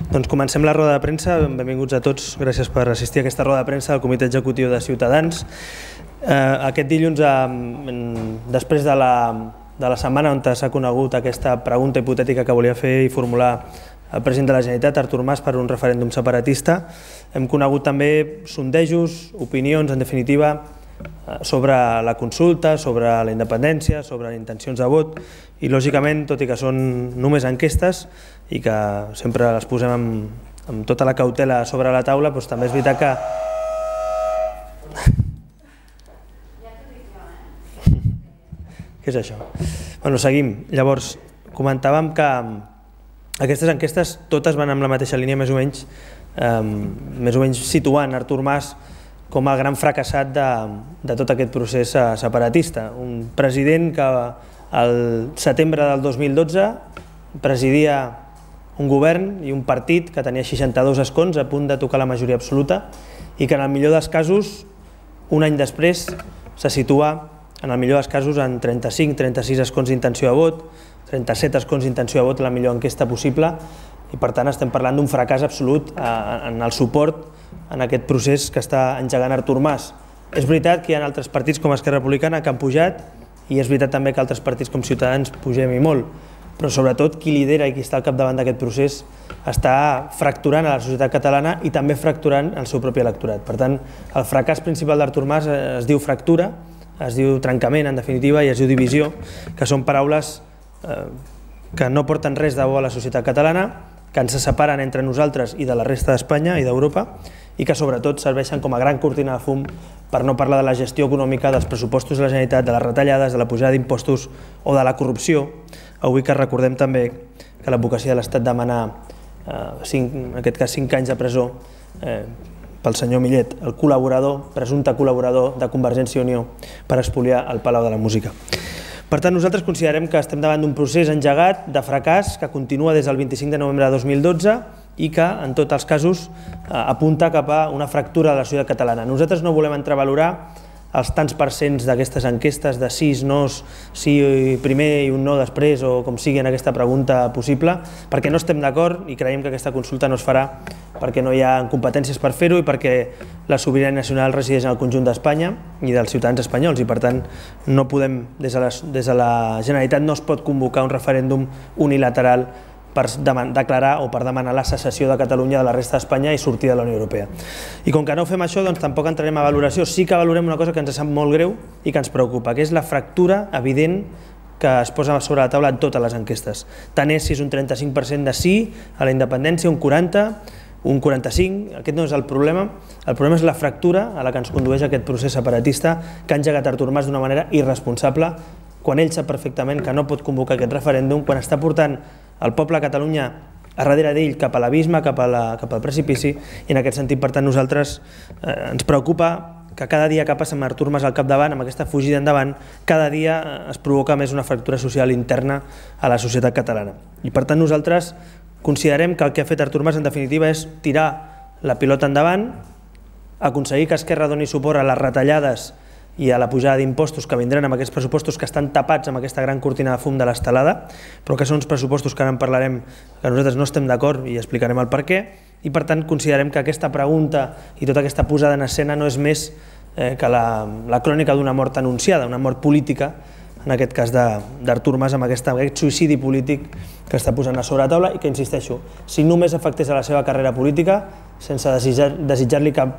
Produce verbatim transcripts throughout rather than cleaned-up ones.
Doncs comencem la roda de premsa. Benvinguts a tots. Gràcies per assistir a aquesta roda de premsa del Comitè Executiu de Ciutadans. Aquest dilluns, després de la, de la setmana on s'ha conegut aquesta pregunta hipotètica que volia fer i formular el president de la Generalitat, Artur Mas, per un referèndum separatista, hem conegut també sondejos, opinions, en definitiva, sobre la consulta, sobre la independència, sobre intencions de vot i, lògicament, tot i que són només enquestes i que sempre les posem amb, amb tota la cautela sobre la taula, doncs també és veritat que... Què és això? Bueno, seguim. Llavors, comentàvem que aquestes enquestes totes van amb la mateixa línia, més o menys, eh, més o menys situant Artur Mas com el gran fracassat de, de tot aquest procés separatista. Un president que al setembre del dos mil dotze presidia un govern i un partit que tenia seixanta-dos escons a punt de tocar la majoria absoluta i que en el millor dels casos, un any després, se situa en el millor dels casos en trenta-cinc trenta-sis escons d'intenció de vot, trenta-set escons d'intenció de vot, la millor enquesta possible, i per tant estem parlant d'un fracàs absolut en el suport en aquest procés que està engegant Artur Mas. És veritat que hi ha altres partits com Esquerra Republicana que han pujat i és veritat també que altres partits com Ciutadans pugem i molt, però sobretot qui lidera i qui està al capdavant d'aquest procés està fracturant a la societat catalana i també fracturant el seu propi electorat. Per tant, el fracàs principal d'Artur Mas es diu fractura, es diu trencament, en definitiva, i es diu divisió, que són paraules eh, que no porten res de bo a la societat catalana, que ens separen entre nosaltres i de la resta d'Espanya i d'Europa i que sobretot serveixen com a gran cortina de fum per no parlar de la gestió econòmica, dels pressupostos de la Generalitat, de les retallades, de la pujada d'impostos o de la corrupció. Avui que recordem també que l'advocacia de l'Estat demana, eh, cinc, en aquest cas, cinc anys de presó eh, pel senyor Millet, el col·laborador, presumpte col·laborador de Convergència i Unió per espoliar el Palau de la Música. Per tant, nosaltres considerem que estem davant d'un procés engegat de fracàs que continua des del vint-i-cinc de novembre de dos mil dotze i que, en tots els casos, apunta cap a una fractura de la societat catalana. Nosaltres no volem entrar a valorar els tants percents d'aquestes enquestes de sis nos, sí primer i un no després, o com sigui en aquesta pregunta possible, perquè no estem d'acord i creiem que aquesta consulta no es farà perquè no hi ha competències per fer-ho i perquè la sobirania nacional resideix en el conjunt d'Espanya i dels ciutadans espanyols i, per tant, no podem, des de la, des de la Generalitat no es pot convocar un referèndum unilateral per declarar o per demanar la secessió de Catalunya de la resta d'Espanya i sortir de la Unió Europea. I com que no fem això, doncs tampoc entrarem a valoració. Sí que valorem una cosa que ens sap molt greu i que ens preocupa, que és la fractura evident que es posa sobre la taula en totes les enquestes. Tant és si és un trenta-cinc per cent de sí a la independència, un quaranta, un quaranta-cinc, aquest no és el problema. El problema és la fractura a la que ens condueix aquest procés separatista que ha engegat Artur Mas d'una manera irresponsable, quan ell sap perfectament que no pot convocar aquest referèndum, quan està portant el poble de Catalunya a darrere d'ell cap a l'abisme, cap, cap al precipici, i en aquest sentit, per tant, nosaltres eh, ens preocupa que cada dia que passa amb Artur Mas al capdavant, amb aquesta fugida endavant, cada dia es provoca més una fractura social interna a la societat catalana. I per tant nosaltres considerem que el que ha fet Artur Mas en definitiva és tirar la pilota endavant, aconseguir que Esquerra doni suport a les retallades i a la pujada d'impostos que vindran amb aquests pressupostos que estan tapats amb aquesta gran cortina de fum de l'estelada, però que són uns pressupostos que ara en parlarem, que nosaltres no estem d'acord i explicarem el per què, i per tant considerem que aquesta pregunta i tota aquesta posada en escena no és més eh, que la, la crònica d'una mort anunciada, una mort política, en aquest cas d'Artur Mas, amb aquest, aquest suïcidi polític que està posant a sobre la taula i que, insisteixo, si només afectés a la seva carrera política, sense desitjar, desitjar-li cap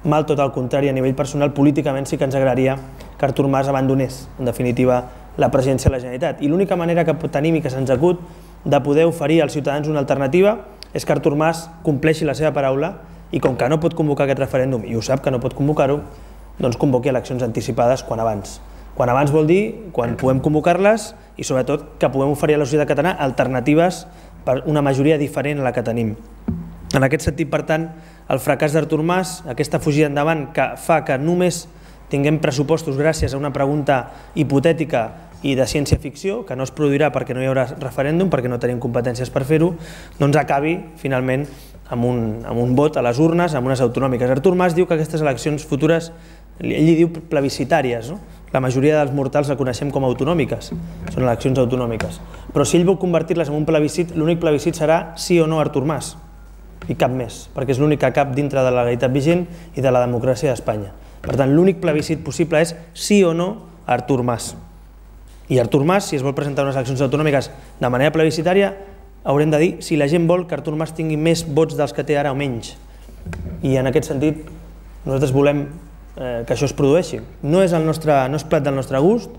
mal, tot el contrari, a nivell personal, políticament sí que ens agradaria que Artur Mas abandonés, en definitiva, la presidència de la Generalitat. I l'única manera que tenim i que se'ns acut de poder oferir als ciutadans una alternativa és que Artur Mas compleixi la seva paraula i, com que no pot convocar aquest referèndum, i ho sap que no pot convocar-ho, doncs convoqui eleccions anticipades quan abans. Quan abans vol dir quan puguem convocar-les i, sobretot, que puguem oferir a la societat catalana alternatives per una majoria diferent a la que tenim. En aquest sentit, per tant, el fracàs d'Artur Mas, aquesta fugida endavant que fa que només tinguem pressupostos gràcies a una pregunta hipotètica i de ciència-ficció, que no es produirà perquè no hi haurà referèndum, perquè no tenim competències per fer-ho, doncs acabi, finalment, amb un, amb un vot a les urnes, amb unes autonòmiques. Artur Mas diu que aquestes eleccions futures, ell li diu plebiscitàries, no? La majoria dels mortals la coneixem com a autonòmiques, són eleccions autonòmiques. Però si ell vol convertir-les en un plebiscit, l'únic plebiscit serà sí o no Artur Mas. i cap més, perquè és l'únic que cap dintre de la legalitat vigent i de la democràcia d'Espanya. Per tant, l'únic plebiscit possible és sí o no a Artur Mas. I Artur Mas, si es vol presentar unes eleccions autonòmiques de manera plebiscitària, haurem de dir si la gent vol que Artur Mas tingui més vots dels que té ara o menys. I en aquest sentit, nosaltres volem que això es produeixi. No és el nostre, no és plat del nostre gust,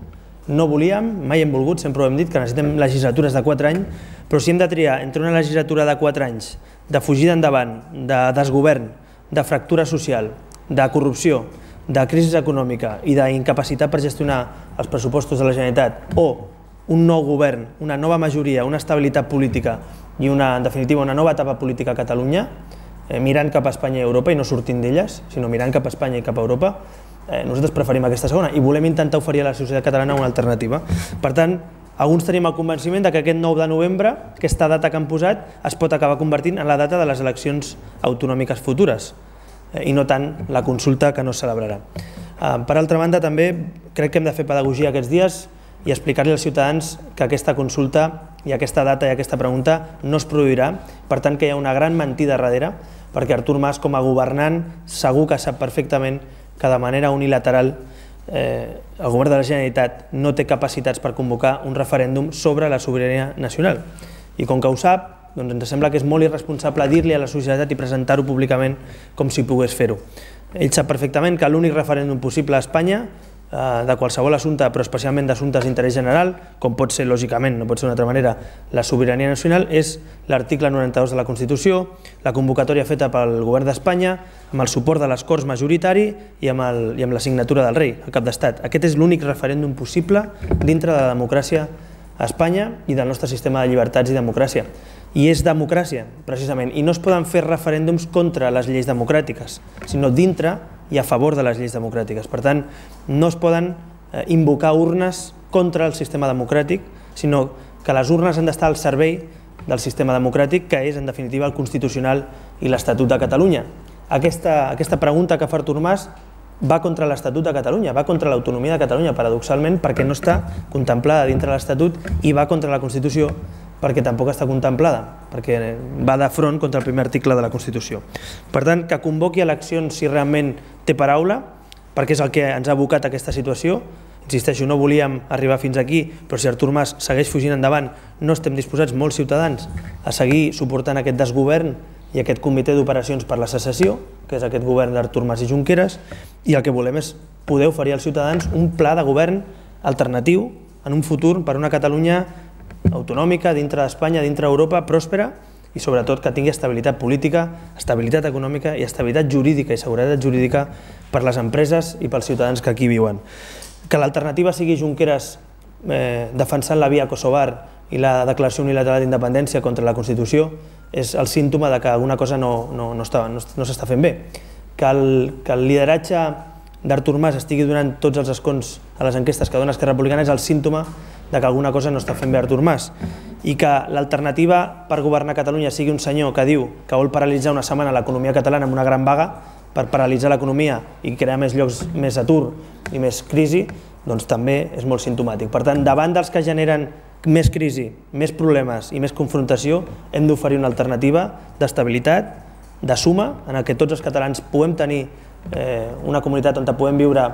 no volíem, mai hem volgut, sempre ho hem dit, que necessitem legislatures de quatre anys, però si hem de triar entre una legislatura de quatre anys, de fugida endavant, de desgovern, de fractura social, de corrupció, de crisi econòmica i d'incapacitat per gestionar els pressupostos de la Generalitat, o un nou govern, una nova majoria, una estabilitat política i, una, en definitiva, una nova etapa política a Catalunya, eh, mirant cap a Espanya i Europa i no sortint d'elles, sinó mirant cap a Espanya i cap a Europa, eh, nosaltres preferim aquesta segona i volem intentar oferir a la societat catalana una alternativa. Per tant, alguns tenim el convenciment que aquest nou de novembre, aquesta data que han posat, es pot acabar convertint en la data de les eleccions autonòmiques futures, i no tant la consulta que no es celebrarà. Per altra banda, també crec que hem de fer pedagogia aquests dies i explicar-li als ciutadans que aquesta consulta i aquesta data i aquesta pregunta no es produirà, per tant que hi ha una gran mentida darrere, perquè Artur Mas, com a governant, segur que sap perfectament que de manera unilateral eh, el govern de la Generalitat no té capacitats per convocar un referèndum sobre la sobirania nacional. I com que ho sap, doncs ens sembla que és molt irresponsable dir-li a la societat i presentar-ho públicament com si pogués fer-ho. Ell sap perfectament que l'únic referèndum possible a Espanya, de qualsevol assumpte, però especialment d'assumptes d'interès general, com pot ser, lògicament, no pot ser d'una altra manera, la sobirania nacional, és l'article noranta-dos de la Constitució, la convocatòria feta pel govern d'Espanya, amb el suport de les Corts majoritari i amb, el, i amb la signatura del rei, el cap d'estat. Aquest és l'únic referèndum possible dintre de la democràcia a Espanya i del nostre sistema de llibertats i democràcia. I és democràcia, precisament, i no es poden fer referèndums contra les lleis democràtiques, sinó dintre i a favor de les lleis democràtiques. Per tant, no es poden invocar urnes contra el sistema democràtic, sinó que les urnes han d'estar al servei del sistema democràtic, que és, en definitiva, el constitucional i l'Estatut de Catalunya. Aquesta, aquesta pregunta que fa Artur Mas va contra l'Estatut de Catalunya, va contra l'autonomia de Catalunya, paradoxalment, perquè no està contemplada dintre l'Estatut, i va contra la Constitució, perquè tampoc està contemplada, perquè va de front contra el primer article de la Constitució. Per tant, que convoqui eleccions si realment té paraula, perquè és el que ens ha abocat a aquesta situació. Insisteixo, no volíem arribar fins aquí, però si Artur Mas segueix fugint endavant, no estem disposats, molts ciutadans, a seguir suportant aquest desgovern i aquest comitè d'operacions per la secessió, que és aquest govern d'Artur Mas i Junqueras, i el que volem és poder oferir als ciutadans un pla de govern alternatiu en un futur per una Catalunya autonòmica, dintre d'Espanya, dintre d'Europa, pròspera i sobretot que tingui estabilitat política, estabilitat econòmica i estabilitat jurídica i seguretat jurídica per les empreses i pels ciutadans que aquí viuen. Que l'alternativa sigui Junqueras eh, defensant la via kosovar i la declaració unilateral d'independència contra la Constitució és el símptoma de que alguna cosa no, no, no, està, no, no s'està fent bé. Que el, que el lideratge d'Artur Mas estigui donant tots els escons a les enquestes que dona Esquerra Republicana és el símptoma de que alguna cosa no està fent bé Artur Mas, i que l'alternativa per governar Catalunya sigui un senyor que diu que vol paralitzar una setmana l'economia catalana amb una gran vaga per paralitzar l'economia i crear més llocs, més atur i més crisi, doncs també és molt simptomàtic. Per tant, davant dels que generen més crisi, més problemes i més confrontació, hem d'oferir una alternativa d'estabilitat, de suma, en què tots els catalans puguem tenir eh, una comunitat on puguem viure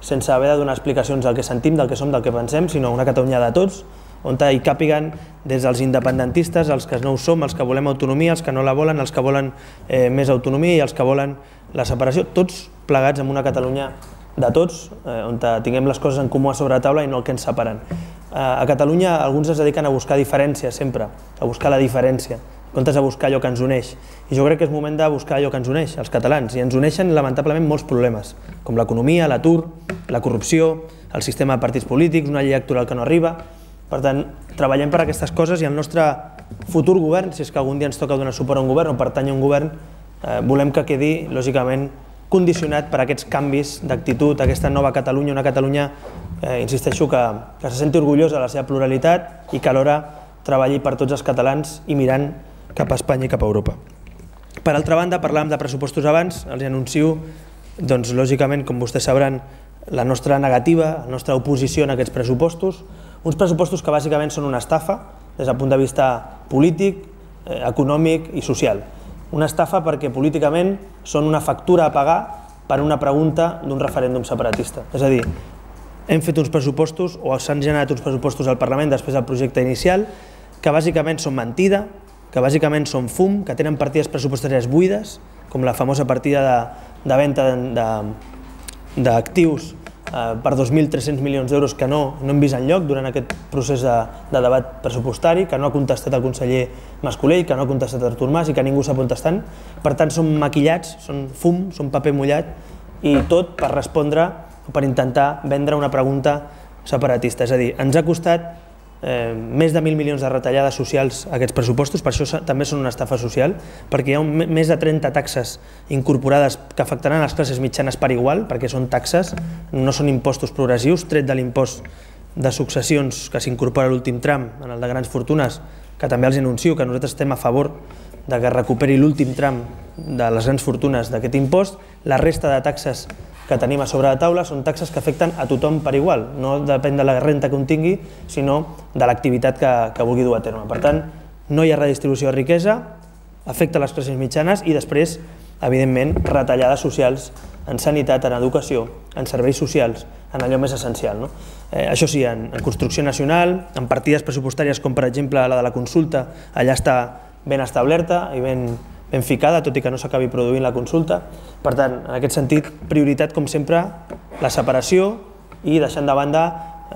sense haver de donar explicacions del que sentim, del que som, del que pensem, sinó una Catalunya de tots, on hi càpiguen des dels independentistes, els que no ho som, els que volem autonomia, els que no la volen, els que volen eh, més autonomia i els que volen la separació, tots plegats en una Catalunya de tots, eh, on tinguem les coses en comú a sobre la taula i no el que ens separen. Eh, a Catalunya alguns es dediquen a buscar diferència sempre, a buscar la diferència, en comptes de buscar allò que ens uneix. I jo crec que és moment de buscar allò que ens uneix, els catalans, i ens uneixen lamentablement molts problemes, com l'economia, l'atur, la corrupció, el sistema de partits polítics, una llei electoral que no arriba. Per tant, treballem per aquestes coses i el nostre futur govern, si és que algun dia ens toca donar suport a un govern o pertany a un govern, eh, volem que quedi, lògicament, condicionat per aquests canvis d'actitud, aquesta nova Catalunya, una Catalunya, eh, insisteixo, que, que se senti orgullosa de la seva pluralitat i que alhora treballi per tots els catalans i mirant cap a Espanya i cap a Europa. Per altra banda, parlàvem de pressupostos abans, els anuncio, doncs, lògicament, com vostès sabran, la nostra negativa, la nostra oposició en aquests pressupostos, uns pressupostos que bàsicament són una estafa des del punt de vista polític, eh, econòmic i social. Una estafa perquè políticament són una factura a pagar per una pregunta d'un referèndum separatista. És a dir, hem fet uns pressupostos o s'han generat uns pressupostos al Parlament després del projecte inicial que bàsicament són mentida, que bàsicament són fum, que tenen partides pressupostàries buides, com la famosa partida de, de venda d'actius eh, per dos mil tres-cents milions d'euros que no, no hem vist enlloc durant aquest procés de, de debat pressupostari, que no ha contestat el conseller Mas-Colell, que no ha contestat Artur Mas i que ningú s'ha contestant. Per tant, són maquillats, són fum, són paper mullat i tot per respondre o per intentar vendre una pregunta separatista. És a dir, ens ha costat Eh, més de mil milions de retallades socials a aquests pressupostos, per això també són una estafa social, perquè hi ha un, més de trenta taxes incorporades que afectaran les classes mitjanes per igual, perquè són taxes, no són impostos progressius, tret de l'impost de successions que s'incorpora a l'últim tram, en el de grans fortunes, que també els anuncio que nosaltres estem a favor de que recuperi l'últim tram de les grans fortunes d'aquest impost. La resta de taxes que tenim a sobre la taula són taxes que afecten a tothom per igual, no depèn de la renta que un tingui, sinó de l'activitat que, que vulgui dur a terme. Per tant, no hi ha redistribució de riquesa, afecta les classes mitjanes i després, evidentment, retallades socials en sanitat, en educació, en serveis socials, en allò més essencial. No? Eh, això sí, en, en construcció nacional, en partides pressupostàries com per exemple la de la consulta, allà està ben establerta i ben, ben ficada, tot i que no s'acabi produint la consulta. Per tant, en aquest sentit, prioritat, com sempre, la separació i deixant de banda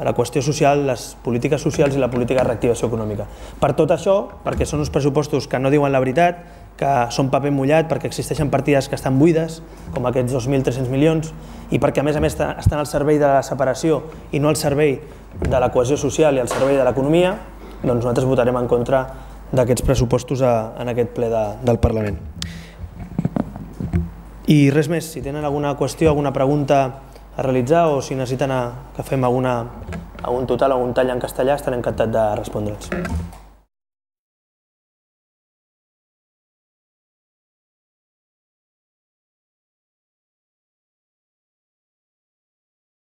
la qüestió social, les polítiques socials i la política de reactivació econòmica. Per tot això, perquè són uns pressupostos que no diuen la veritat, que són paper mullat, perquè existeixen partides que estan buides, com aquests dos mil tres-cents milions, i perquè a més a més estan al servei de la separació i no al servei de la cohesió social i al servei de l'economia, doncs nosaltres votarem en contra d'aquests pressupostos a, en aquest ple de, del Parlament. I res més, si tenen alguna qüestió, alguna pregunta a realitzar o si necessiten a, que fem alguna, algun total, algun tall en castellà, estaré encantat de respondre'ls.